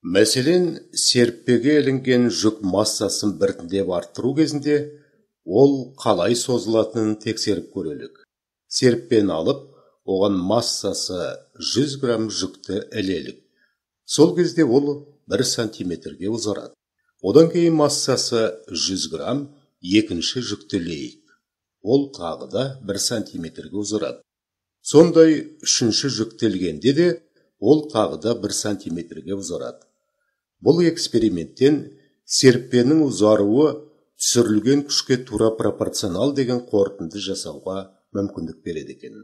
Мәселен, серіппеге ілінген жүк массасын біртіндеп арттыру кезінде ол қалай созылатынын тексеріп көрелік. Серіппені алып, оған массасы 100 грамм жүкті ілелік. Сол кезде ол 1 сантиметрге ұзарады. Одан кейін массасы 100 грамм екінші жүкті ілейік. Ол тағы да 1 сантиметрге ұзарады. Сондай үшінші жүкті ілгенде де ол тағы да 1 сантиметрге ұзарады. Бұл эксперименттен серіппенің ұзаруы түсірілген күшке тура пропорционал деген қорытынды жасауға мүмкіндік береді екен.